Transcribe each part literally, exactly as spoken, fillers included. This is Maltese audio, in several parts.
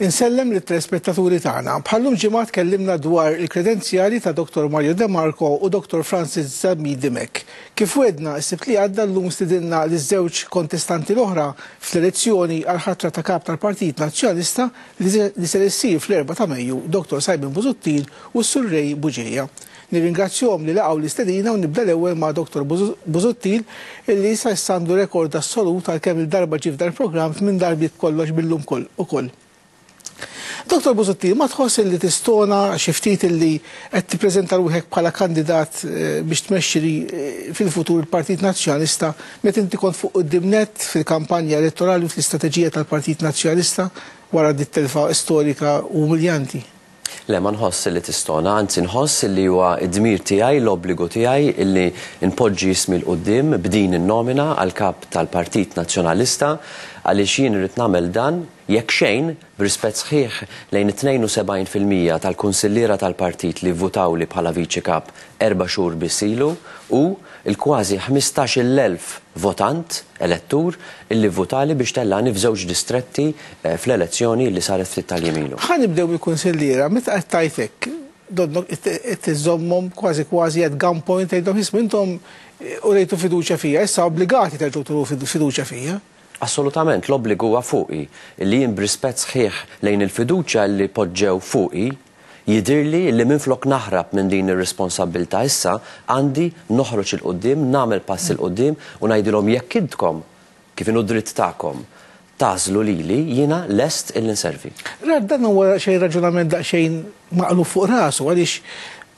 Insellem lit-telespettaturi tagħna. Bħallum ġimgħa tkellimna dwar il-kredenzjali ta' Doktor Mario De Marco u Doktor Francis Zammit Dimech. Kif wedna s-Sibt li għadda, llum stidinna liż-żewġ kontestanti l-oħra fl-elezzjoni għal ħatra ta' kap tal-Partit Nazzjonalista li se issir fl-erbgħa ta' Mejju, Doktor Simon Busuttil u s-Sur Ray Bugeja. Nirringrazzjahom li laqgħu l-istedina u nibda l-ewwel ma' Doktor Busuttil, illi sa issa għandu rekord assolut għal kemm il-darba ġie f'dal programm, minn darbiet kollox billum ukoll. Doktor Busuttil, ma tħoss li tistona xi ftit li qed tippreżenta ruħek bħala kandidat biex tmexxi fil-futur il-Partit Nazzjonalista meta inti kont fuq quddiem nett fil-kampanja elettorali u fl-istrateġija tal-Partit Nazzjonalista wara dit telfa storika u umiljanti? Le, ma nħoss li tistona, anzi nħoss li huwa d-dmir tiegħi, l-obbligu tiegħi illi npoġġi ismi 'l quddiem b'din in-nomina għal kap tal-Partit Nazzjonalista, għaliex jien irid nagħmel dan jekk xejn b'rispett sħiħ lejn it-tnejn u sebgħin fil-mija tal-kunsilliera tal-partit li vvutawli bħala viċi kap erba' xhur biss ilu u l-kważi ħmistax-il elf votant elettur illi vvutali biex tellani f'żewġ distretti fl-elezzjoni li saret ftit tal-jiem ilu. Ħa nibdew mill-kunsilliera, meta qed tgħid hekk, donnok qed iżommhom kważi kważi at gunpoint, tgħidhom isma' intom urejtu fiduċja fija, issa obbligati terġgħu turu fiduċja fija. Assolutament, l-obbligu huwa fuqi li jien b'rispett sħiħ lejn il-fiduċja li poġġew fuqi jidirli li minflok naħrab minn din ir-responsabbiltà issa għandi noħroġ il quddiem, nagħmel pass il quddiem u ngħidilhom jekk intkom kif inhu dritt tagħkom tażlu lili, jiena lest illi nservi. Rad, dan huwa xejn raġunament daqsxejn maqlub fuq rasu, għaliex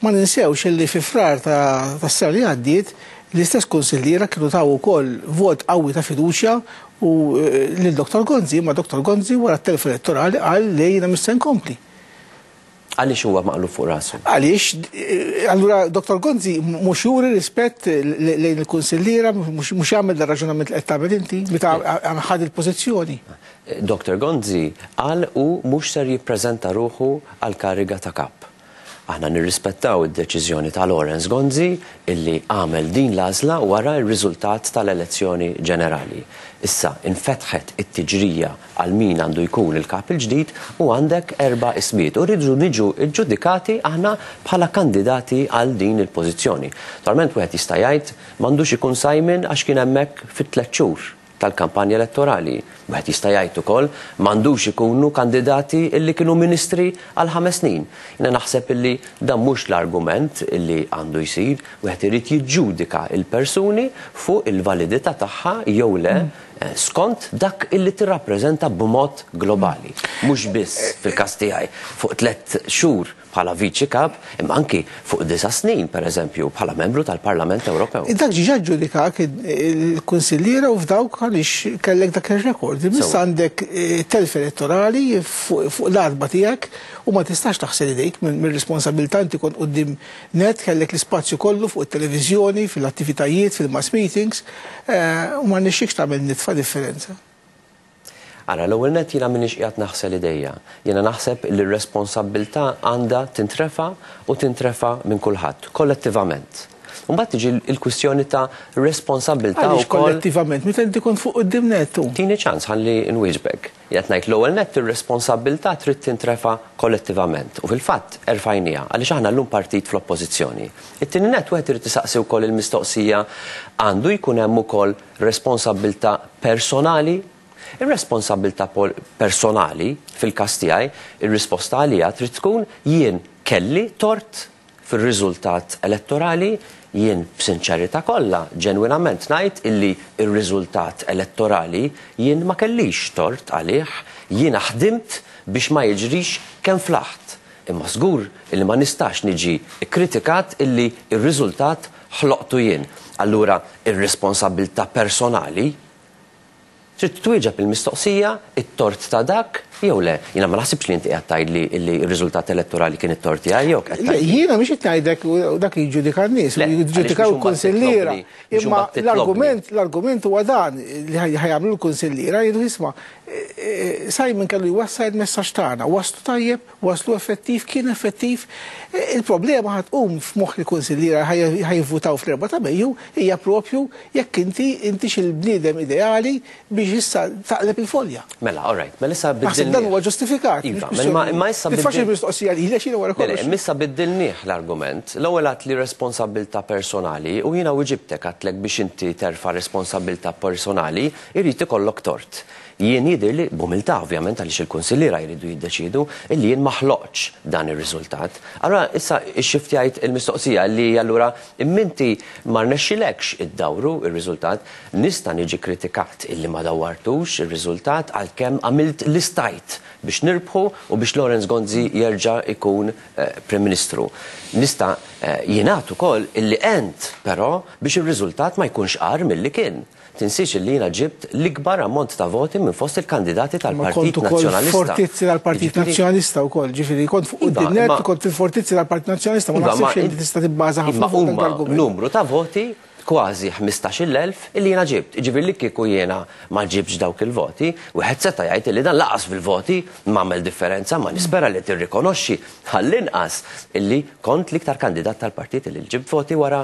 ma ninsewx illi fi Frar ta' tas-sena li għaddiet l-istess kunsilliera kienu taw ukoll vot qawwi ta' fiduċja u lil Doktor Gonzi, ma Doktor Gonzi wara t-telf elettorali qal li jiena mhux se nkompli. Għaliex huwa maqlub fuq rasu? Għaliex, allura Doktor Gonzi mhux juri rispett lejn il-kunsilliera, mhux jagħmel dar raġunament li qed tagħmel inti meta ħad il-pożizzjoni. Doktor Gonzi qal u mhux ser jippreżenta ruħu għal kariga ta' kap. Aħna nirrispettaw id-deċiżjoni ta' Lawrence Gonzi illi għamel din l-għażla wara r-riżultat tal-elezzjoni ġenerali. Issa infetħet it-tiġrija għal min għandu jkun il-kap il-ġdid u għandek erba' ismijiet u rridu niġu ġġudikati aħna bħala kandidati għal din il-pożizzjoni. Naturalment wieħed jista' jgħid m'għandux ikun Simon għax kien hemmhekk fit-tliet xhur tal-kampanja elettorali. Wieħed jista' jgħid ukoll m'għandux ikunu kandidati illi kienu ministri għal ħames snin. Jiena naħseb illi dan mhux l-argument illi għandu jsir, wieħed irid jiġġudika il-persuni fuq il-validità tagħha jew le skont dak illi tirrappreżenta b'mod globali. Mhux biss fil-każ tiegħi fuq tliet xhur bħala viċi kap, imma anki fuq disa' snin, per eżempju, bħala membru tal-Parlament Ewropew. Dak ġiġa ġġudikak il-kunsilliera u f'dawk għaliex kellek dak ir-rekord. Issa għandek telf elettorali fuq l-arba tiegħek u ma tistax taħsel idejk mir-responsabilità. Inti kont quddiem net, kellek l-ispazju kollu fuq it-televiżjoni, fil-attivitajiet, fil-mass meetings, u ma nixxikx tagħmel nitfa' differenza. Ara, l-ewwel nett jiena m'iniex qiegħed naħsel idejja. Jiena naħseb li r-responsabbiltà għandha tintrefa' u tintrefa' minn kulħadd, kollettivament. U mbagħad tiġi l-kwistjoni ta' responsabbiltà Għaliex wkoll kollettivament, meta inti kont fuq quddiem nettu. Tini ċans ħalli nwieġbek. Qed ngħid l-ewwel nett ir-responsabbiltà trid tintrefa' kollettivament. U fil-fatt erfajniha għaliex aħna llum partit fl-oppożizzjoni. It-tieni nett wieħed irid isaqsi wkoll il-mistoqsija għandu jkun hemm ukoll responsabbiltà personali. Ir-responsabbiltà personali fil-każ tiegħi, ir-risposta għalija trid tkun jien kelli tort fir-riżultat elettorali, jien b'sinċerità kollha ġenwinament ngħid illi r-riżultat elettorali jien ma kellix tort għalih, jiena ħdimt biex ma jiġrix kemm flaħt. Imma żgur illi ma nistax niġi kkritikat illi r-riżultat ħloqtu jien. Allura ir-responsabbiltà personali trid twieġeb il-mistoqsija, it-tort ta' dak jew le. Jiena ma naħsibx li inti qed tgħidli li r-riżultat elettorali kien it-tort tiegħi jew qed Le, tgħidli. jiena mhix qed ngħidlek u dak jiġġudika n-nies, Le, u jiġġudikaw għaliex mhux il-kunsilliera. imbagħad titlobni, mhux Imma imbagħad titlobni. l-argument, l-argument huwa dan li ħajamlu l-kunsilliera, jgħidu isma', Simon kellu jwassal il-messaġġ tagħna, waslu tajjeb, waslu effettiv, kien effettiv. Il-problema ħad tqum f'moħħ il-kunsilliera ħajvutaw fl-erbgħa ta' Mejju hija propju jekk inti intix il-bniedem ideali biex issa taqleb il-folja. Mela, all right, mela issa Naħseb Dan huwa ġustifikat. Iva, imma issa biddil. Mistoqsija li jiena wara kollox. Issa biddilnieh l-argument. L-ewwel għedt li responsabbiltà personali u jiena wieġibtek għedtlek biex inti terfa' responsabbiltà personali irid ikollok tort. Jien jidhirli b'umiltà ovvjament għaliex il-kunsilliera jridu jiddeċidu illi jien ma ħloqtx dan ir-riżultat. Allura issa xxiftjajt il-mistoqsija li allura imminti ma rnexxilekx iddawru ir-riżultat, nista' niġi kritikat illi ma dawwartux ir-riżultat għalkemm għamilt li stajt biex nirbħu u biex Lawrence Gonzi jerġa' ikun Prim Ministru. Nista' jingħad ukoll illi ent però biex ir-riżultat ma jkunx qar milli kien. Tinsiex li jiena ġibt l-ikbar ammont ta' voti minn fost il-kandidati tal-Partit Nazzjonalista. Fortizzi tal-Partit Nazzjonalista wkoll, ġifieri kont fuq quddiem kont fil-fortizzi tal-Partit Nazzjonalista, ma naħsibx li tista' tibbaża ħafna fuq dan l-argument. Numru ta' voti kważi ħmistax-il elf illi jiena ġibt. Ġifieri li kieku jiena ma ġibx dawk il-voti, wieħed seta' jgħid illi dan laqas fil-voti m'għamel differenza, ma nispera li tirrikonoxxi għall-inqas illi kont l-iktar kandidat tal-partit illi ġib voti wara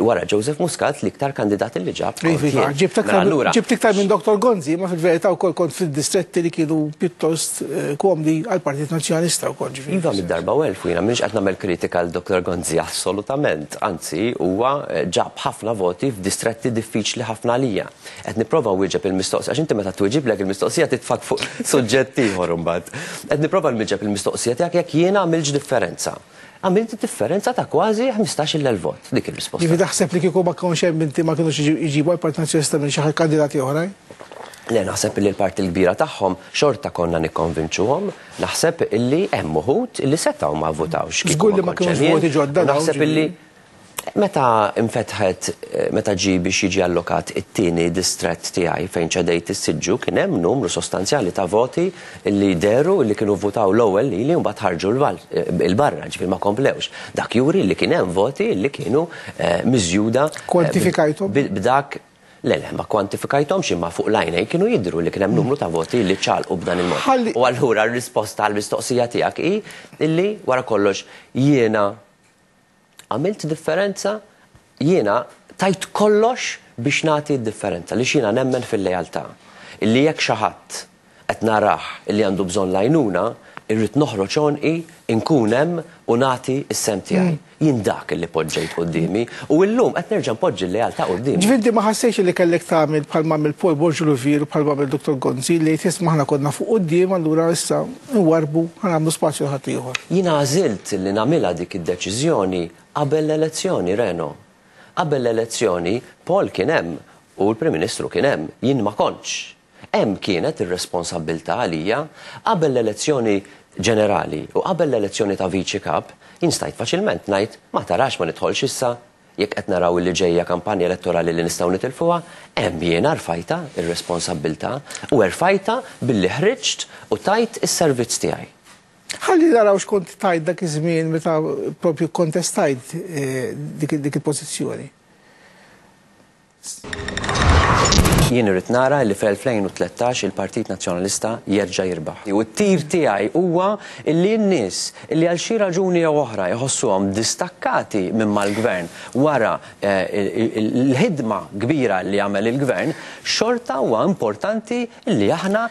wara Joseph Muscat l-iktar kandidat illi ġab. Ġibt iktar minn Doktor Gonzi, ma fil-verità wkoll kont fil-distretti li kienu pjuttost komdi għall-Partit Nazzjonalista wkoll ġifieri. Iva mid-darba u elf jiena m'iniex qed nagħmel kritika għal Doktor Gonzi assolutament, anzi huwa ġab ħafna voti f'distretti diffiċli ħafna għalija. Qed nipprova nwieġeb il-mistoqsija, għax inti meta twieġiblek il-mistoqsija titfak fuq suġġett ieħor imbagħad. Qed nipprova nwieġeb il-mistoqsija tiegħek jekk jiena għamilx differenza. Għamilt differenza ta' kważi ħmistax-il elf vot, dik il-risposta. Ġifieri taħseb li kieku ma kienx hemm inti ma kinux iġibu għall-Partit Nazzjonalista minn xi kandidati oħrajn? Le, naħseb li l-parti l-kbira tagħhom xorta konna nikkonvinċuhom, naħseb illi hemm uħud illi setgħu ma votawx. Żgur li ma kinux voti ġodda. Naħseb illi meta infetħet, meta ġie biex jiġi allokat it-tieni distrett tiegħi fejn ċedejt is-siġġu, kien hemm numru sostanzjali ta' voti li deru li kienu votaw l-ewwel lili u mbagħad ħarġu l-barra, ġifieri ma komplewx. Dak juri li kien hemm voti li kienu miżjuda. Kwantifikajthom? B'dak Le, le, ma kwantifikajthomx imma fuq l-għajnejn kienu jidhru li kien hemm numru ta' voti li ċalqu b'dan il-mod. U allura r-risposta għall-mistoqsija tiegħek hi illi wara kollox jiena għamilt differenza, jiena tajt kollox biex nagħti d-differenza, li jiena nemmen fil-lealtà. Illi jekk xi ħadd qed narah illi għandu bżonn l-għajnuna, irrid noħroġ għonqi, inkun hemm u nagħti s-sem tiegħi. Jien dak illi poġġejt quddiemi u llum qed nerġa' npoġġi l-lealtà quddiemi. Ġifieri ma ħassejx li kellek tagħmel bħalma għamel Paul Borg Olivier u bħalma għamel Doktor Gonzi li tisma' aħna konna fuq quddiem allura issa nwarbu ħanagħmlu spazju l ħadd ieħor. Jiena għażilt li nagħmilha dik id-deċiżjoni qabel l-elezzjoni, Reno. Qabel l-elezzjoni Paul kien hemm u l-Prim Ministru kien hemm, jien ma kontx. Hemm kienet ir-responsabbiltà għalija qabel l-elezzjoni ġenerali u qabel l-elezzjoni ta' viċi kap, jien stajt faċilment ngħid ma tarax ma nidħolx issa jekk qed naraw li ġejja kampanja elettorali li nistgħu nitilfuha, hemm jiena rfajta ir-responsabbiltà u rfajta billi ħriġt u tajt is-servizz tiegħi. Ħalli naraw x'kont tajt dak iż-żmien meta propju kontestajt dik il-pożizzjoni. Jien irrid nara li fl-elfejn u tlettax il-Partit Nazzjonalista jerġa' jirbaħ. U t-tir tiegħi huwa li n-nies li għal xi raġuni jew oħra jħossuhom distakkati minn mal-gvern wara l-ħidma kbira li għamel il-gvern, xorta huwa importanti li aħna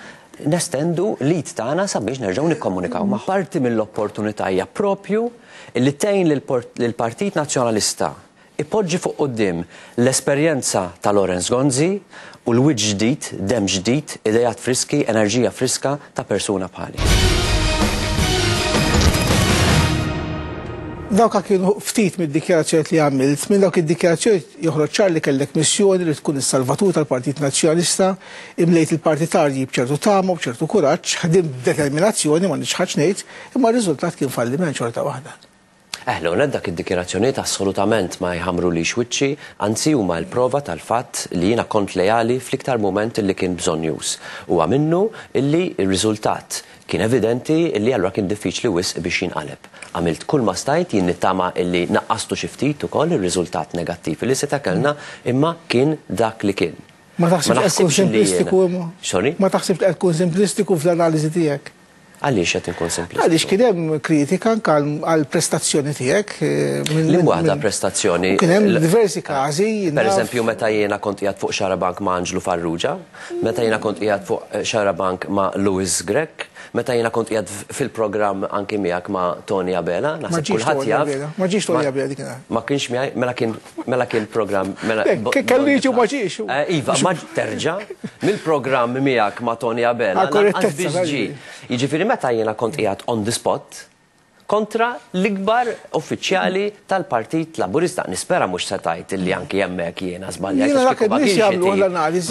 nestendu l-id tagħna sabiex nerġgħu nikkomunikaw magħhom. Parti mill-opportunità hija propju li tgħin lill-Partit Nazzjonalista ipoġġi fuq quddiem l-esperjenza ta' Lawrence Gonzi u l-wiċċ ġdid, dem ġdid, idejat friski, enerġija friska ta' persuna bħali. Dawk kienu ftit mid-dikjarazzjonijiet li għamilt, minn dawk id-dikjarazzjonijiet joħroġ ċar li kellek missjoni li tkun is-salvatur tal-Partit Nazzjonalista, imlejt il-partitarji b'ċertu tama, b'ċertu kuraġġ, ħdimt b'determinazzjoni ma nixħax ngħid, imma r-riżultat kien falliment xorta waħda. Eh, l dak id-dikjarazzjonijiet assolutament ma jħamru li xwiċċi, anzi huma l-prova tal-fatt li jiena kont lejali fl-iktar moment li kien bżonn-już. Huwa minnu illi r-riżultat kien evidenti illi allura kien diffiċli wisq biex jinqaleb. Għamilt kull ma stajt, jien nittama illi naqqastu xi ftit ukoll ir-riżultat negattiv li seta' kellna, imma kien dak li kien. Ma taħsibx li qed tkun simplistiku imma? Sorry? Ma taħsibx li qed tkun simplistiku fl-analiżi tiegħek? Għaliex qed inkun simplistiku? Għaliex kien hemm kritika anke għall-prestazzjoni tiegħek. Li waħda prestazzjoni. Kien hemm diversi każi. Per eżempju, meta jiena kont qiegħed fuq Xarabank ma' Anġlu Farrugia, meta jiena kont qiegħed fuq Xarabank ma' Louis Grech, meta jiena kont qiegħed fil-programm anki miegħek ma' Tony Abela, naħseb kulħadd jaf. Ma ġiex Tony Abela dik. Ma kienx miegħi, mela kien mela kien programm mela kellu jiġu ma ġiex. Iva, ma terġa' mill-programm miegħek ma' Tony Abela. Jiġifieri meta jiena kont qiegħed on the spot kontra l-ikbar uffiċjali tal-Partit Laburista. Nispera mhux se tgħid illi anki hemmhekk jiena żbaljajt.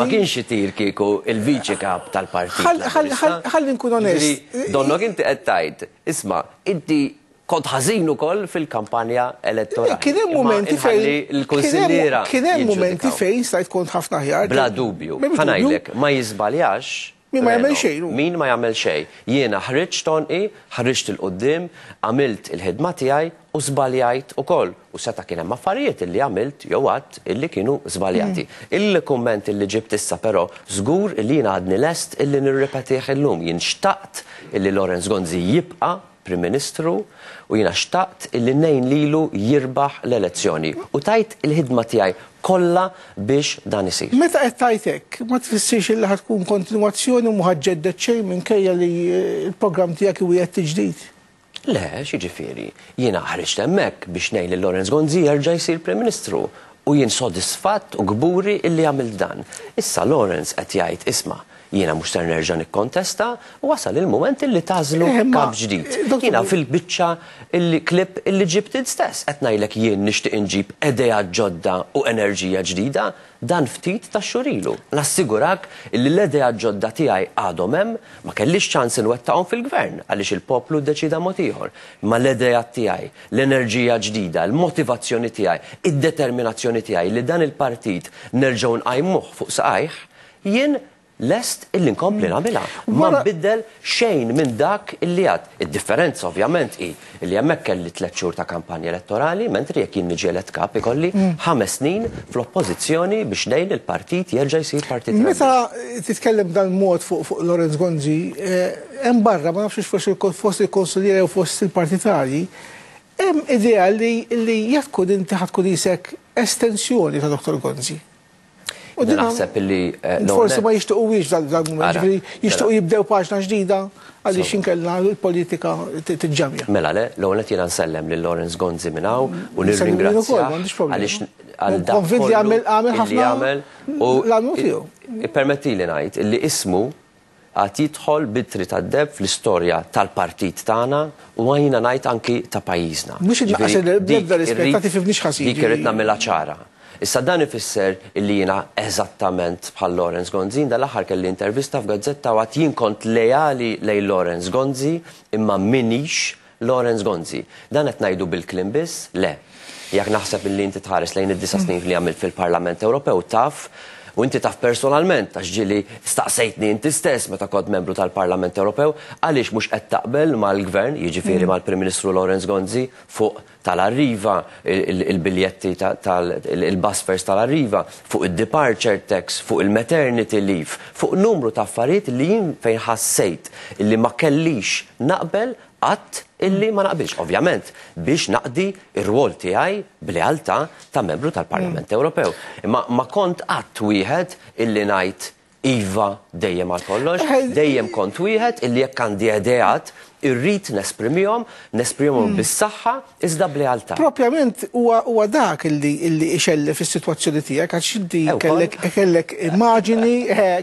Ma kienx itir kieku il-viċi kap tal-Partit Laburista. Ħalli nkun onest. Donnok inti qed tgħid, isma' inti kont ħażin ukoll fil-kampanja elettorali. Kien hemm momenti fejn il-kunsilliera. Kien hemm momenti fejn stajt kont ħafna aħjar. Bla dubju. Ħa ngħidlek, ma jiżbaljax. Min ma jagħmel xejn. Min ma jagħmel xejn. Jiena ħriġt tonqi, ħriġt 'il quddiem, għamilt il-ħidma tiegħi u żbaljajt ukoll. U seta' kien hemm affarijiet illi għamilt jew għadt illi kienu żbaljati. Il-kumment illi ġibt issa però żgur illi jiena għadni lest illi nirripetih illum. Jien xtaqt illi Lawrence Gonzi jibqa' Prim Ministru u jiena xtaqt illi ngħin lilu jirbaħ l-elezzjoni. U tajt il-ħidma tiegħi kollha biex dan isir. Meta qed tgħid hekk, ma tfissirx illi ħad tkun kontinwazzjoni u mhu ħaġġedded xejn minkejja li l-programm tiegħek iwiegħed tiġdid? Le, x'jiġifieri, jiena ħriġt hemmhekk biex ngħin lil Lawrence Gonzi jerġa' jsir Prim Ministru u jien sodisfatt u kburi illi għamilt dan. Issa Lawrence qed jgħid isma' jiena mhux ser nerġa' nikkontesta u wasal il-mument illi tażlu kap ġdid. Jiena fil-biċċa il-klip illi ġibt int stess qed ngħidlek jien nixtieq inġib idea ġodda u enerġija ġdida dan ftit ta' xhur ilu. Nassigurak illi l-idea ġodda tiegħi għadhom hemm, ma kellix ċans inwettaqhom fil-gvern għaliex il-poplu ddeċida mod ieħor. Ma l-idea tiegħi, l-enerġija ġdida, l-motivazzjoni tiegħi, id-determinazzjoni tiegħi li dan il-partit nerġgħu nqajmuh fuq saqajh, jien lest illi nkompli nagħmilha. Ma nbiddel xejn minn dak illi għad. Id-differenza ovvjament hi illi hemmhekk kelli tliet xhur ta' kampanja elettorali, mentri jekk jien niġi elett kap ikolli ħames snin fl-oppożizzjoni biex ngħin il-partit jerġa' jsir partit. Meta titkellem dan mod fuq Lawrence Gonzi, hemm barra ma nafx forsi fost il-konsuliera jew fost il-partitarji, hemm idea li jekk tkun inti ħa tkun isek estensjoni ta' Doktor Gonzi. U naħseb illi forsi ma jixtiequx dal-mument, jixtiequ jibdew paġna ġdida għaliex inkella l-politika tiġġamja. Mela le, l-ewwel qed jiena nsellem lil Lawrence Gonzi minn hawn u nirringrazzjah għaliex għal dak li għamel u ippermettili ngħid illi ismu għad jidħol bitri tad-deb fl-istorja tal-partit tagħna u għajna ngħid anki ta' pajjiżna. Mhux inqas l-ebda rispett ta' tifhimniex ħażin. Dik irid nagħmilha ċara. Issa dan ifisser illi jiena eżattament bħal Lawrence Gonzi, dal-aħħar kelli intervista f'gazzetta u għad jien kont lejali lejn Lawrence Gonzi imma minix Lawrence Gonzi. Dan qed ngħidu bil-kliem biss? Le. Jekk naħseb illi inti tħares lejn id-disa' snin li għamilt fil-Parlament Ewropew taf, u inti taf personalment, għax ġieli staqsejtni inti stess meta kont membru tal-Parlament Ewropew, għaliex mhux qed taqbel mal-Gvern, jiġifieri mal-Prim Ministru Lawrence Gonzi, fuq tal-Arriva, il-biljetti tal-bus fares tal-Arriva, fuq il-departure tax, fuq il-maternity leave, fuq numru ta' affarijiet li jien fejn ħassejt illi ma kellix naqbel qatt illi ma naqbilx, ovvjament, biex naqdi ir-rwol tiegħi b'lealtà ta' membru tal-Parlament Ewropew. Imma ma kont qatt wieħed illi ngħid iva dejjem għal kollox, dejjem kont wieħed illi jekk għandi ideat irrid nesprimihom, nesprimihom bis-saħħa iżda b'lealtà. Propjament huwa dak illi ixellef is-sitwazzjoni tiegħek għax inti kellek kellek immaġini,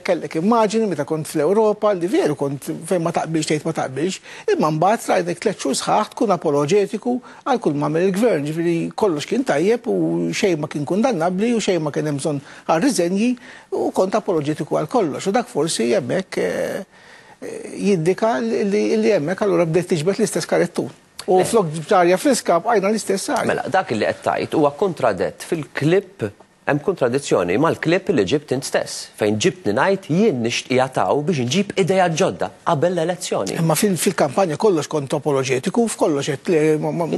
kellek immaġini meta kont fl-Ewropa li veru kont fejn ma taqbilx tgħid ma taqbilx, imma mbagħad rajtek tliet xhur sħaħ tkun apoloġetiku għal kull ma għamel il-gvern, ġifieri kollox kien tajjeb u xejn ma kien kundannabbli u xejn ma kien hemm bżonn għal riżenji u kont apoloġetiku għal kollox. U dak forsi hemmhekk jiddika li hemmhekk allura bdejt tiġbed l-istess karettun. U flok arja friska bqajna l-istess arja. Mela, dak li qed tgħid huwa kontradett fil-klip Hemm kontradizzjoni mal-klip li ġibt int stess, fejn ġibtni ngħid jien nixtieq taw biex nġib idea ġodda qabel l-elezzjoni. Imma fil-kampanja kollox kont apoloġetiku, f'kollox qed li.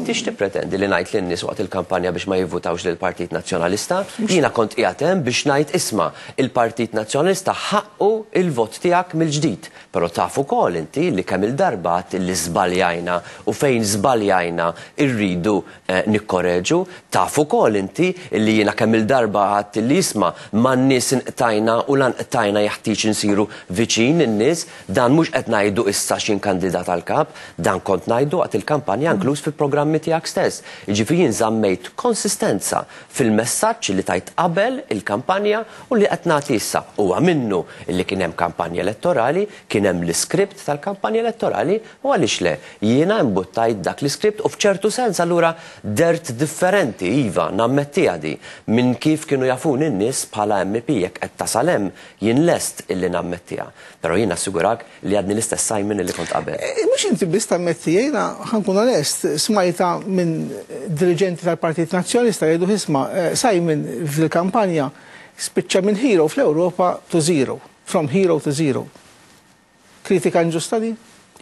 Inti x'tippretendi, li ngħid lin-nies waqt il-kampanja biex ma jivvutawx lill-Partit Nazzjonalista? Jiena kont qiegħed hemm biex ngħid, isma', il-Partit Nazzjonalista ħaqqu il-vot tiegħek mill-ġdid. Però taf ukoll inti li kemm il-darba li żbaljajna u fejn żbaljajna irridu eh, nikkoreġu, taf ukoll inti li jiena kemm il-darba għedt li isma', man-nies inqtajna u lanqtajna, jeħtieġ insiru viċin in-nies. Dan mhux qed ngħidu issa x'in kandidat għal kap, dan kont ngħidu waqt il-kampanja, inkluż fil-programmi tiegħek stess. Jiġifieri jien żammejt konsistenza fil-messaġġ li tajt qabel il-kampanja u li qed nagħti issa. Huwa minnu li kien hemm kampanja elettorali, kien hemm l-iskript tal-kampanja elettorali, u għaliex le, jiena imbuttajt dak l-iskript u f'ċertu sens allura dert differenti, iva, nammettiha di, minn kif kienu jafuni n-nies bħala M P. Jekk qed tasal hemm, jien lest illi nammettiha. Però jien assigurak li għadni l-istess Simon illi kont qabel. Eh, Mhux inti biss tammetti, jiena ħa nkun onest, smajta minn dirigenti tal-Partit Nazzjonalista jgħidu, isma', eh, Simon fil-kampanja spiċċa minn hero fl-Ewropa to zero, from hero to zero. Kritika inġusta di?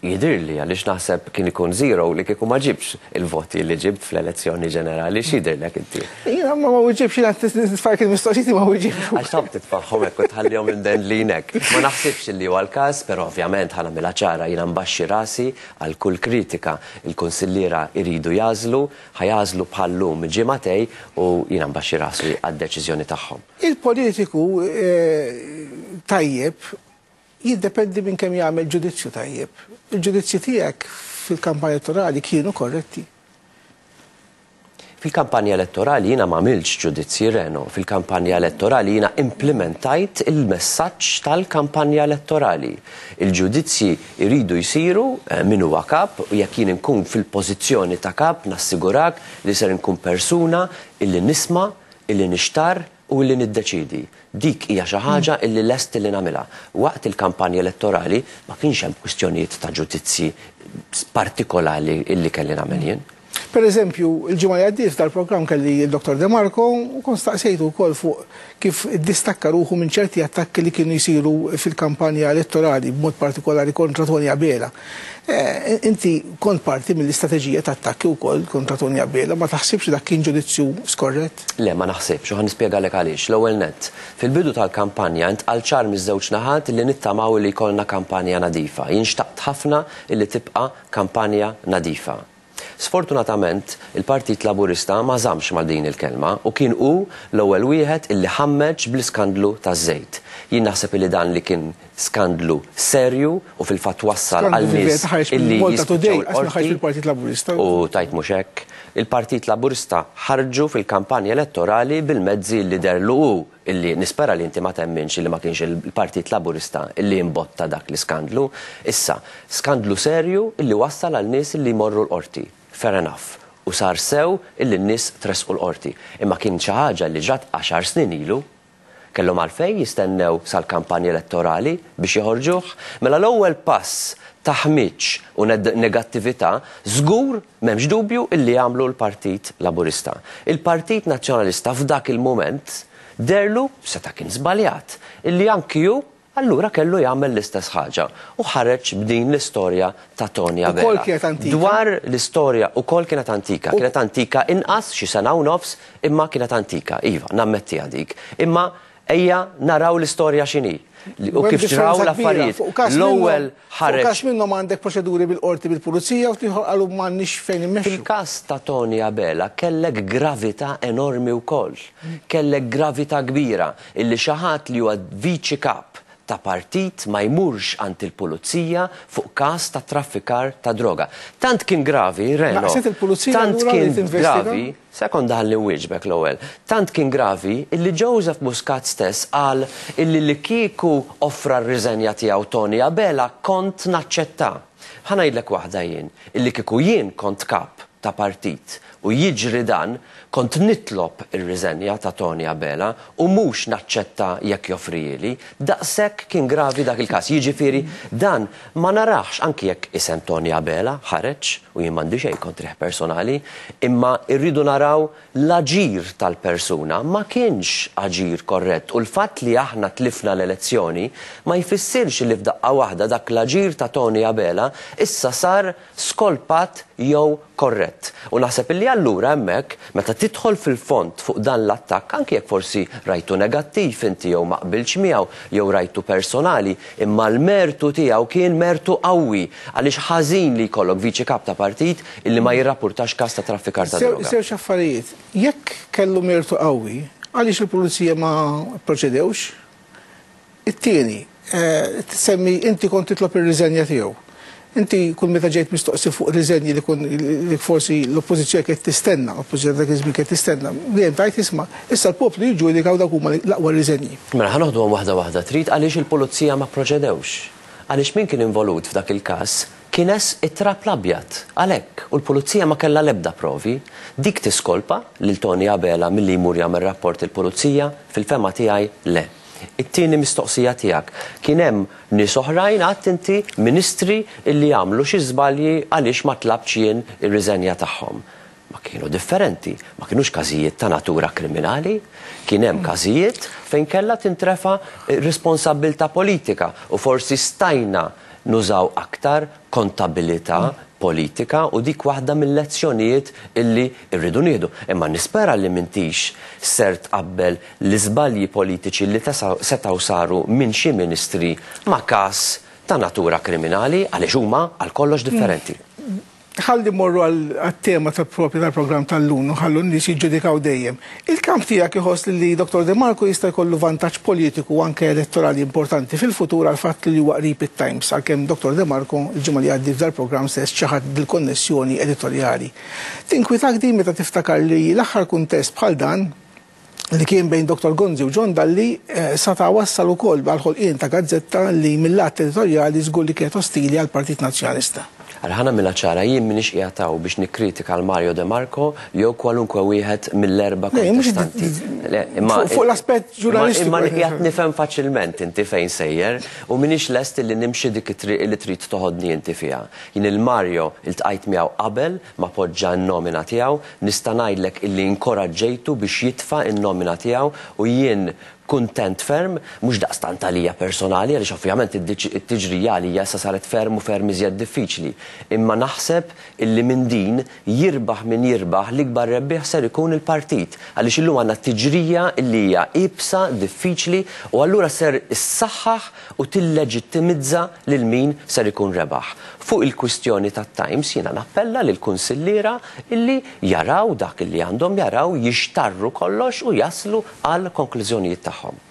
Jidirli, għaliex naħseb kien ikun zero li kieku ma ġibx il-voti li ġibt fl-elezzjoni ġenerali. X'jidhirlek inti? Jiena ma ma wieġibx, jiena nitfgħalek il-mistoqsijiet, ma wieġibx. Għax taf titfagħhom hekk u tħallihom imdendlinek. Ma naħsibx li huwa l-każ, però ovvjament ħa nagħmilha ċara, jiena mbaxxi rasi għal kull kritika. Il-kunsilliera iridu jagħżlu, ħa jagħżlu bħal-lum ġimagħtejn u jiena mbaxxi rasi għad-deċiżjoni tagħhom. Il-politiku eh, tajjeb jiddependi minn kemm jagħmel ġudizzju tajjeb. Il-ġudizzji tiegħek fil-kampanja elettorali kienu korretti? Fil-kampanja elettorali jiena ma għamiltx ġudizzji, Reno. Fil-kampanja elettorali jiena implementajt il-messaġġ tal-kampanja elettorali. Il-ġudizzji jridu jsiru eh, min huwa kap, u jekk jien nkun fil-pożizzjoni ta' kap, nassigurak li ser nkun persuna illi nisma', illi nixtar u illi niddeċidi. Dik hija xi ħaġa illi lest illi nagħmilha. Waqt il-kampanja elettorali ma kienx hemm kwistjonijiet ta' ġudizzji partikolari illi kelli nagħmel jien. Per eżempju, il-ġimgħa li għaddiet tal-programm kelli il-Dottor De Marco u kont staqsejtu wkoll fuq kif distakka ruħu minn ċerti attakki li kienu jsiru fil-kampanja elettorali, b'mod partikolari kontra Toni Abela. Eh, inti kont parti mill-istrateġija ta' attakki wkoll kontra Toni Abela, ma taħsibx dak kien ġudizzju skorrett? Le, ma naħsibx, u ħa nispjegalek għaliex. L-ewwel nett, fil-bidu tal-kampanja intqal ċar miż-żewġ naħat li nittamaw li jkollna kampanja nadifa. Jien xtaqt ħafna illi tibqa' kampanja nadifa. Sfortunatament, il-Partit Laburista ma żamx mal din il-kelma u kien hu l-ewwel wieħed illi ħammeġ bl-iskandlu taż-żejt. Jien naħseb illi dan li kien skandlu serju u fil-fatt wassal għal nies illi Malta Today, ħareġ fil-Partit Laburista. U tajt mhux hekk, il-Partit Laburista ħarġu fil-kampanja elettorali bil-mezzi li deherlu hu, illi nispera li inti ma temminx illi ma kienx il-Partit Laburista illi imbotta dak l-iskandlu. Issa, skandlu serju illi wassal għal nies illi jmorru l-qorti. Fair enough. U sar sew illi n-nies tresqu l-qorti. Imma kien xi ħaġa li ġrat għaxar snin ilu, kellhom għalfejn jistennew sal-kampanja elettorali biex joħorġuh. Mela l-ewwel pass ta' ħmiġ u negattività żgur m'hemmx dubju illi għamlu l-Partit Laburista. Il-Partit Nazzjonalista f'dak il-moment deherlu, seta' kien żbaljat, illi anki hu allura kellu jagħmel l-istess ħaġa u ħareġ b'din l-istorja ta' Toni Abela. Ukoll kienet antika. Dwar l-istorja ukoll kienet antika, kienet antika inqas xi sena u nofs, imma kienet antika, iva, nammettiha dik. Imma ejja naraw l-istorja x'inhi u kif ġraw l-affarijiet. L-ewwel ħareġ. Każ minnhom għandek proċeduri bil-qorti bil-pulizija u l-ieħor qalu m'għandniex fejn immexxu. Fil-każ ta' Toni Abela kellek gravità enormi wkoll. Kellek gravità kbira illi xi ħadd li huwa viċi kap ta' partit ma jmurx għand il-pulizija fuq każ ta' traffikar ta' droga. Tant kien gravi, Reno. Naqset il-pulizija Tant allura li kien tinvestiga? gravi, sekonda ħalli nwieġbek l-ewwel. Tant kien gravi illi Joseph Muscat stess qal illi li kieku offra r-riżenja tiegħu Toni Abela kont naċċetta. Ħa ngħidlek waħda jien, illi kieku jien kont kap ta' partit u jiġri dan, kont nitlob ir-riżenja ta' Tony Abela u mhux naċċetta jekk joffrihieli. Daqshekk kien gravi dak il-każ. Jiġifieri dan ma narax anki jekk isem Tony Abela ħareġ u jien m'għandi xejn kontrih personali, imma rridu naraw l-aġir tal-persuna ma kienx aġir korrett u l-fatt li aħna tlifna l-elezzjoni ma jfissirx li f'daqqa waħda dak l-aġir ta' Tony Abela issa sar skolpat jew korrett. U naħseb illi allura hemmhekk meta tidħol fil-fond fuq dan l-attakk, anki jekk forsi rajtu negattiv inti jew ma qbilx miegħu jew rajtu personali, imma l-mertu tiegħu kien mertu qawwi għaliex ħażin li jkollok viċi kap ta' partit illi ma jirrapportax każ ta' traffikar ta' droga. Żewġ affarijiet, jekk kellu mertu qawwi, għaliex il-pulizija ma proċedewx? It-tieni, tsemmi inti kont titlob ir-riżenja tiegħu. Inti kull meta ġejt mistoqsi fuq riżenji li kun li forsi l-oppożizzjoni kienet tistenna, l-oppożizzjoni dak iż-żmien kienet tistenna, dejjem tajt isma' issa l-poplu jiġġudikaw dak huma l-aqwa riżenji. Mela ħa noħduhom waħda waħda trid għaliex il-pulizija ma proċedewx. Għaliex min kien involut f'dak il-każ kienes it-trab l-abjad għalhekk u l-pulizija ma kellha l-ebda provi. Dik tiskolpa lil Tony Abela milli jmur jagħmel rapport il-pulizija, fil-fema tiegħi le. It-tieni mistoqsija tiegħek, kien hemm nies oħrajn għad inti ministri illi għamlu xi żbalji għaliex ma tlabx jien ir-riżenja tagħhom. Ma kienu differenti, ma kienux każijiet ta' natura kriminali, kien hemm każijiet fejn kellha tintrefa responsabbiltà politika u forsi stajna nużaw aktar kontabilità politika u dik waħda mill-lezzjonijiet illi rridu nieħdu. Imma nispera li m'intix ser tqabbel l-iżbalji politiċi li setgħu saru minn xi ministri ma' każ ta' natura kriminali għaliex huma għal kollox differenti. Ħalli morru għal-tema tal-propju tal-programm tal-lum, ħallu n-nies jiġġudikaw dejjem. Il-kamp tiegħek iħoss li Dottor De Marco jista' jkollu vantaġġ politiku anke elettorali importanti fil-futur għal fatt li huwa qrib it-Times, għalkemm Dottor De Marco il-ġimgħa li għaddi f'dal-programm stess ċaħad dil-konnessjoni editorjali. Tinkwitak din meta tiftakar li l-aħħar kuntest bħal dan li kien bejn Dottor Gonzi u John Dalli sata wassal ukoll għal ħolqien ta' gazzetta li mill-lat editorjali żgur li kienet ostili għall-Partit Nazzjonalista. Ħana mela ċara, jien minix qiegħed hawn biex nikkritika għal Mario De Marco jew kwalunkwe wieħed mill-erba' kontestanti. Fuq l-aspett ġurnalistiku. Imma qiegħed nifhem faċilment inti fejn sejjer u minix lest li nimxi dik it-triq li trid toħodni inti fiha. Jien il-Mario iltqajt miegħu qabel ma poġġa n-nomina tiegħu, nista' ngħidlek illi inkoraġġejtu biex jitfa' n-nomina tiegħu u jien kuntent ferm, mhux daqstant għalija personali, għaliex ovvjament it-tiġrija għalija issa saret ferm u ferm iżjed diffiċli. Imma naħseb illi minn din jirbaħ min jirbaħ l-ikbar rebbieħ ser ikun il-partit. Għaliex illum għandna tiġrija illi hija ibsa, diffiċli, u allura ser issaħħaħ u tilleġittimizza lil min ser ikun rebaħ. Fuq il-kwistjoni tat-Times jiena nappella lil kunsilliera illi jaraw dak illi għandhom jaraw, jixtarru kollox u jaslu għal konklużjonijiet tagħhom.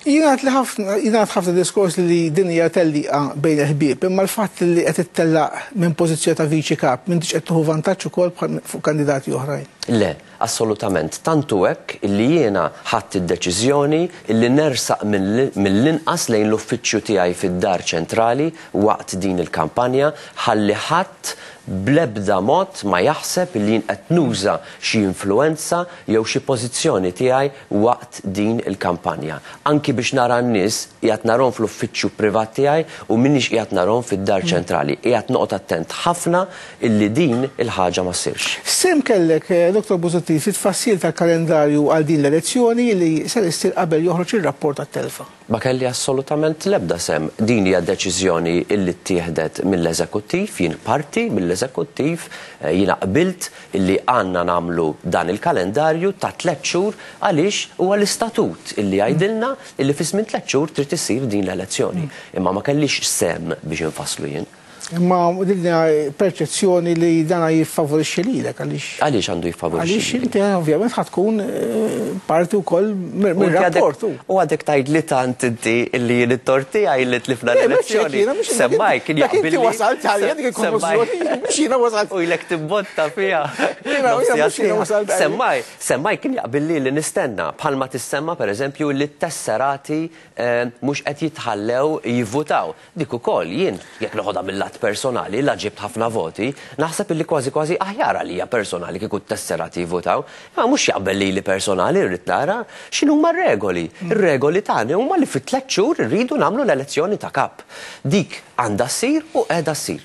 Jingħad li ħafna, jingħad ħafna diskors li din hija tellieqa bejn il-ħbieb, imma l-fatt li qed ittellaq minn pożizzjoni ta' viċi kap m'intix qed tieħu vantaġġ ukoll fuq kandidati oħrajn. Le, assolutament. Tantu hekk illi jiena ħadt id-deċiżjoni illi nersaq mill-inqas lejn l-uffiċċju tiegħi fid-dar ċentrali waqt din il-kampanja ħalli ħadd bl-ebda mod ma jaħseb illi jien qed nuża xi influenza jew xi pożizzjoni tiegħi waqt din il-kampanja. Anki biex nara n-nies qiegħed narhom fl-uffiċċju privat tiegħi u minix qiegħed narhom fid-dar ċentrali. Qiegħed noqgħod attent ħafna illi din il-ħaġa ma ssirx. Sem kellek, Dottor Busuttil, fit-tfassil tal-kalendarju għal din l-elezzjoni li ser issir qabel joħroġ ir-rapport tat-telfa? Ma kelli assolutament l-ebda sem. Din hija deċiżjoni illi ttieħdet mill-eżekuttiv, jien parti mill-eżekuttiv, jiena qbilt illi għandna nagħmlu dan il-kalendarju ta' tliet xhur għaliex huwa l-istatut illi jgħidilna illi fi żmien tliet xhur trid issir din l-elezzjoni. Imma ma kellix sem biex infasslu jien. Imma din hija perċezzjoni li dana jiffavorixxi lilek għaliex. Għaliex għandu jiffavorixxi Għaliex lilek? inti ovvjament ħa tkun, eh, parti wkoll mir-rapport. U għadek tgħid li tant inti illi jien it-tort tiegħi li tlifna Le, mhux l-elezzjoni. hekk jiena, mhux hekk. Semmaj kien Dak inti jaqbilli. wasalt għalija dik il-konklużjoni, mhux jiena wasalt. U ilek tibbotta fiha. Jiena, jiena, mhux jiena wasalt għalija. Semmaj, semmaj kien jaqbilli li nistenna bħalma tissemma pereżempju li t-tesserati, eh, mhux qed jitħallew jivvutaw. Dik ukoll jien jekk noħodha mill-lat tesserat personali, la ġibt ħafna voti, naħseb illi kważi kważi aħjar għalija personali kieku t-tesserati jivvotaw, imma mhux jaqbel lili personali rrid nara x'inhuma r-regoli. Ir-regoli tagħna huma li fi tliet xhur irridu nagħmlu l-elezzjoni ta' kap. Dik għandha ssir u qiegħda ssir.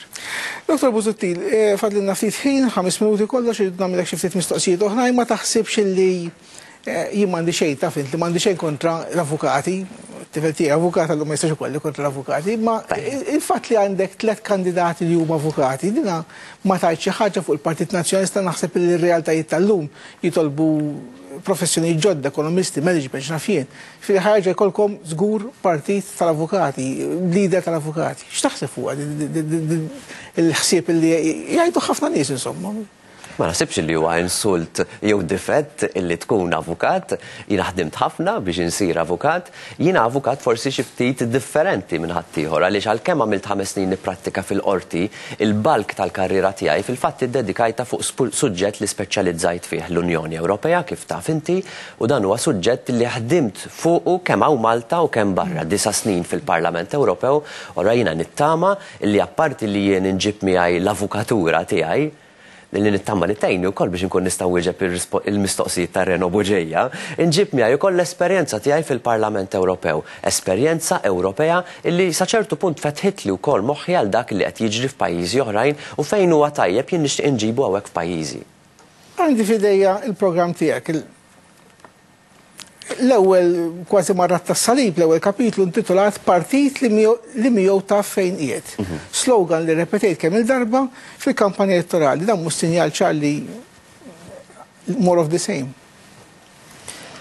Doktor Busuttil, fadlilna ftit ħin, ħames minuti kollox, irridu nagħmilek xi ftit mistoqsijiet oħra, ma taħsibx illi jien m'għandi xejn, taf int li m'għandi xejn kontra l-avukati, tifel tiegħi avukat għallu ma jistax ikolli kontra l-avukati, ma il-fatt li għandek tliet kandidati li huma avukati, dina ma tgħid xi ħaġa fuq il-Partit Nazzjonalista. Naħseb li r-realtajiet tal-lum jitolbu professjoni ġodda, ekonomisti, management, x'naf jien. Fil-ħarġa jkollkom żgur partit tal-avukati, leader tal-avukati. X'taħseb fuq il-ħsieb li jgħidu ħafna nies insomma? Ma naħsibx li huwa insult jew difett illi tkun avukat. Jiena ħdimt ħafna biex insir avukat. Jiena avukat forsi xi ftit differenti minn ħaddieħor, għaliex għalkemm għamilt ħames snin nipprattika fil-qorti, il-bulk tal-karriera tiegħi fil-fatt iddedikajta fuq suġġett li speċjalizzajt fih, l-Unjoni Ewropea, kif taf inti, u dan huwa suġġett li ħdimt fuqu kemm hawn Malta u kemm barra, disa' snin fil-Parlament Ewropew. Ora jiena nittama li apparti li jien inġib miegħi l-avukatura tiegħi, li nittama li tgħinni wkoll biex inkun nista' nwieġeb il-mistoqsijiet ta' Reno Bugeja, inġib miegħi wkoll l-esperjenza tiegħi fil-Parlament Ewropew, esperjenza Ewropea illi sa ċertu punt fetħitli wkoll moħħi għal dak li qed jiġri f'pajjiżi oħrajn u fejn huwa tajjeb jien nixtieq inġibu hawnhekk f'pajjiżi. Għandi f'idejja il-programm tiegħek. L-ewwel kważi marrat tas-salib, l-ewwel kapitlu intitolat Partit li miegħu taf fejn qiegħed. Slogan li repetejt kemm il-darba fil-kampanja elettorali. Dan mhux sinjal ċar li more of the same?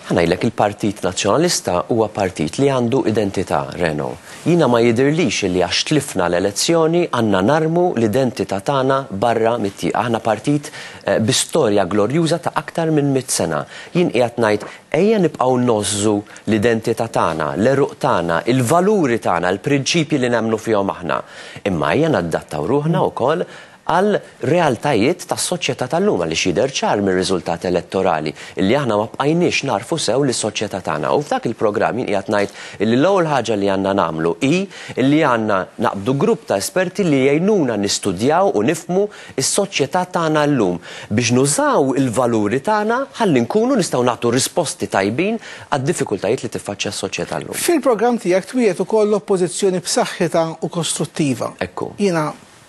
Ħa ngħidlek, il-Partit Nazzjonalista huwa partit li għandu identità, Reno. Jiena ma jidirlix li għax tlifna l-elezzjoni għandna narmu l-identità tagħna barra mit-tieqa. Aħna partit bi storja glorjuża ta' aktar minn mitt sena. Jien qiegħed ngħid ejja nibqgħu nożżu l-identità tagħna, l-eruq tagħna, il-valuri tagħna, il-prinċipji li nemmnu fihom aħna. Imma ejja nadattaw ruħna wkoll għal realtajiet tas-soċjetà tal-lum, għaliex jidher ċar mir-riżultat elettorali illi aħna ma bqajniex narfu sew lis-soċjetà tagħna. U f'dak il-programm jien qiegħed ngħid illi l-ewwel ħaġa li għandna nagħmlu hi illi għandna naqbdu grupp ta' esperti li jgħinuna nistudjaw u nifhmu s-soċjetà tagħna llum biex nużaw il-valuri tagħna ħalli nkunu nistgħu nagħtu risposti tajbin għad-diffikultajiet li tiffaċċja s-soċjetà llum. Fil-programm tiegħek twiegħed ukoll l-oppożizzjoni b'saħħitha u kostruttiva. Ekku. Jiena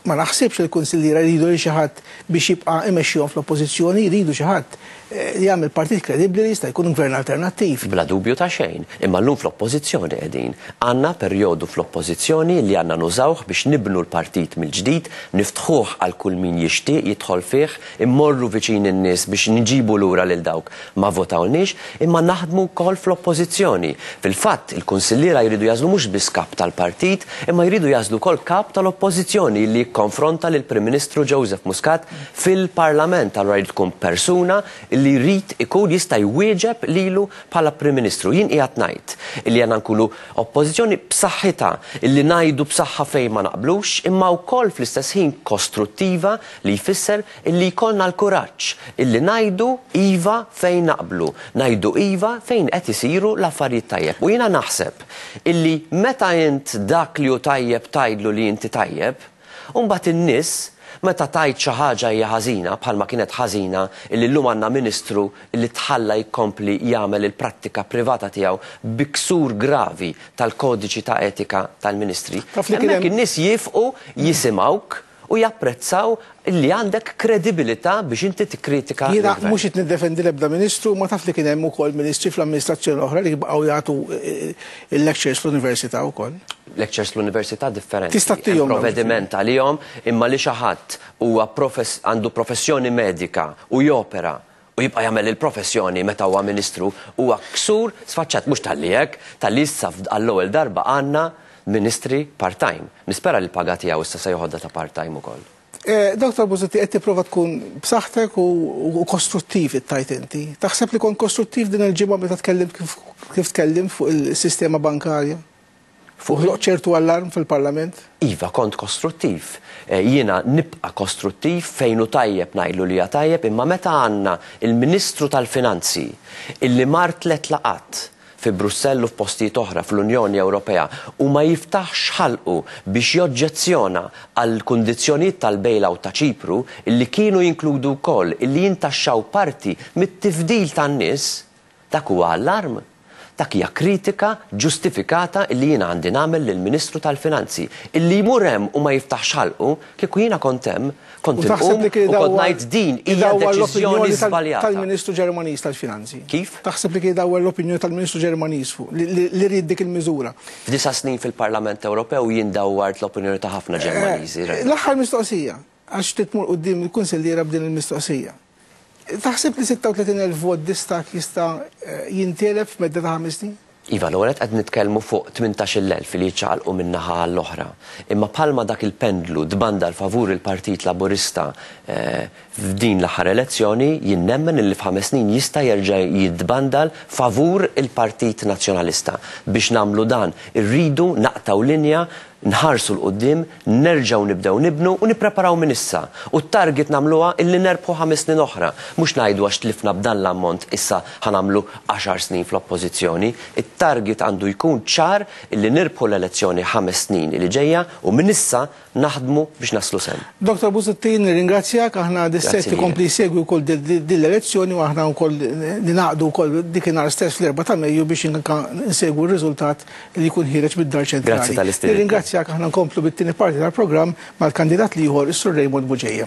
ma naħsibx li l-kunsilliera jridu li xi ħadd biex jibqa' imexxihom fl-oppożizzjoni, jridu xi ħadd li jagħmel partit kredibbli li jista' jkun gvern alternattiv. Bla dubju ta' xejn, imma llum fl-oppożizzjoni qegħdin. Għandna perjodu fl-oppożizzjoni li għandna nużawh biex nibnu l-partit mill-ġdid, niftħuh għal kull min jixtieq jidħol fih, immorru viċin in-nies biex nġibu lura lil dawk ma votawniex, imma naħdmu wkoll fl-oppożizzjoni. Fil-fatt, il-kunsilliera jridu jażlu mhux biss kap tal-partit, imma jridu jażlu wkoll kap tal-oppożizzjoni li jikkonfronta lill-Prim Ministru Joseph Muscat fil-Parlament. Allura jrid tkun persuna li jrid ikun jista' jwieġeb lilu bħala Prim Ministru. Jien qiegħed ngħid illi għandna nkunu oppożizzjoni b'saħħitha, illi ngħidu b'saħħa fejn ma naqblux, imma wkoll fl-istess ħin kostruttiva, li jfisser illi jkollna l-kuraġġ illi ngħidu iva fejn naqblu, ngħidu iva fejn qed isiru l-affarijiet tajjeb. U jiena naħseb illi meta int dak li hu tajjeb tgħidlu li inti tajjeb, u mbagħad in-nies meta tajt xi ħaġa hija ħażina, bħalma kienet ħażina illi llum għandna ministru illi tħalla jkompli jagħmel il-prattika privata tiegħu bi ksur gravi tal-kodiċi ta' etika tal-ministri. Taf li kien Hemmhekk hemm in-nies jifqu jisimgħuk u japprezzaw illi għandek kredibilità biex inti tikkritika Jiena l-gvern. mhux qed niddefendi l-ebda ministru, ma taf li kien hemm ukoll ministri fl-amministrazzjoni oħra li baqgħu jagħtu, eh, il-lectures fl-università wkoll. Lectures fl-università differenti. Tista' ttihom Hemm provvediment għalihom, imma li xi ħadd huwa profess-, għandu professjoni medika u jopera u jibqa' jagħmel il-professjoni meta huwa ministru huwa ksur sfaċċat, mhux talli hekk, talli issa għall-ewwel darba għandna ministri part-time. Nispera li l-paga tiegħu issa se joħodha ta' part-time ukoll. Eh, Doktor Busuttil, qed tipprova tkun b'saħħtek u, u kostruttiv it-tajt inti. Taħseb li kont kostruttiv din il-ġimgħa meta tkellimt kif, kif tkellimt fuq il-sistema bankarja? Fuq ħloq ċertu allarm fil-Parlament? Iva, kont kostruttiv. Eh, jiena nibqa' kostruttiv fejn hu tajjeb ngħidlu li hija tajjeb, imma meta għandna il-Ministru tal-Finanzi illi mar tliet laqat fi Brussell u f'postijiet oħra fl-Unjoni Ewropea u ma jiftaħx ħalqu biex joġġezzjona għal kundizzjonijiet tal-bailout ta' Ċipru illi kienu jinkludu wkoll illi jintaxxaw parti mit-tifdil tan-nies, dak huwa allarm. Dak hija kritika ġustifikata illi jiena għandi nagħmel lill-Ministru tal-Finanzi. Illi jmur hemm u ma jiftaħx ħalqu, kieku jiena kont hemm, kont inqum u kont ngħid din hija deċiżjoni żbaljata. Tal-Ministru Ġermaniż tal-Finanzi. Kif? Taħseb li kien idawwar l-opinjoni tal-Ministru Ġermaniż fuq li ried dik il-miżura. F'disa' snin fil-Parlament Ewropew jien dawwart l-opinjoni ta' ħafna Ġermaniżi. L-aħħar mistoqsija, għax titmur quddiem il-kunsilliera b'din il-mistoqsija. Taħseb li sitta u tletin elf vot distak jista' jintelef f'medda ta' ħames snin? Iva, l-ewwel qed nitkellmu fuq tmintax-il elf li jiċċaqalqu minn naħa għall-oħra. Imma bħalma dak il-pendlu tbandal favur il-Partit Laburista f'din l-aħħar elezzjoni, jien nemmen li f'ħames snin jista' jerġa' jitbandal favur il-Partit Nazzjonalista. Biex nagħmlu dan, irridu naqtaw linja, nħarsu l-qoddim, nerġgħu nibdew nibnu u nippreparaw minn issa. U t-target nagħmluha illi nerbħu ħames snin oħra. Mhux ngħidu għax tlifna b'dan l-ammont issa ħanamlu għaxar snin fl-oppożizzjoni. It-target għandu jkun ċar illi nirbħu l-elezzjoni ħames snin li ġejja u minn issa naħdmu biex naslu sem. Doktor Busuttil, nirringrazzjak, aħna dis-set ikompli jsegwi wkoll din l-elezzjoni u aħna wkoll ninaqdu wkoll dikinhar stess fl-erba' ta' Mejju biex insegwu r-riżultat li jkun ħiereġ mid-dar ċentrali. Grazzi tal-istedina. Nirringrazzjak, aħna nkomplu bit-tieni parti tal-programm mal-kandidat l-ieħor, is-Sur Raymond Bugeja.